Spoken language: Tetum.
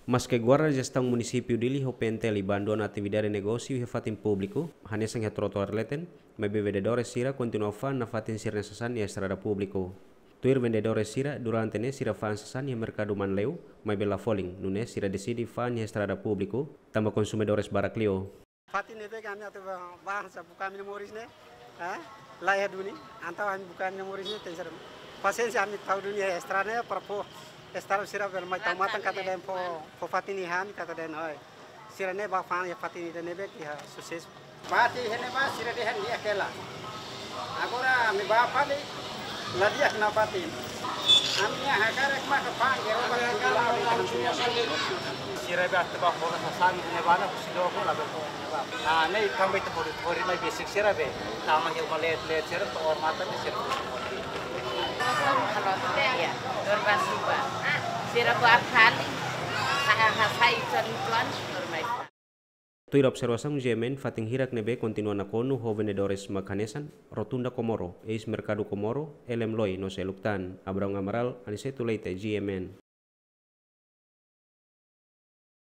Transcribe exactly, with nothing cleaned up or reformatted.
Maske Guarda Jestaun Munisípiu Dili ho P N T L abandona atividade negósiu iha fatin públiku, hanesan iha trotoar leten, maibé vendedores sira kontinua fa'an nafatin sira-nia sasán iha estrada públiku. Tuir vendedores sira, durante ne'e sira fa'an sasán iha merkadu Manleu, maibé la folin, nune'e sira deside fa'an iha estrada públiku, tanba konsumidores barak liu. Fatin ne'ebé ami atu ba, ba sa buka ami-nia moris ne'e, eh? La iha duni, entaun ami buka ami-nia moris ne'e, tenke ser pasiénsia ami tau duni iha estrada ne'e, para fó estrada sira bele mai tau matan katak dehan fó, fó fatin iha ami katak dehan hoi. Sira ne'e ba fa'an iha fatin ida ne'ebé iha susesu. Bati hene ba sira dehan di'ak hela. Agora ami ba fali la di'ak nafatin. Ami-nia hakarak maka fa'an geroba. Sira be atu ba hola sasán ne'ebá na husi doko la be. Ah, ne'e também tu hori, hori mai besik sira be. Tama iha uma leet-leet sira to'o matan sira. Kalau tidak ya, dorba suba. Sira buat kali. Saya hasai tuan-tuan, dorba. Tuir observasaun G M N, fatin hirak ne'ebé kontinua nakonu ho vendedores mak hanesan Rotunda Komoro, eis Merkadu Komoro, L M Loi no seluk tan. Abraão Amaral, Aniceto Leite, G M N.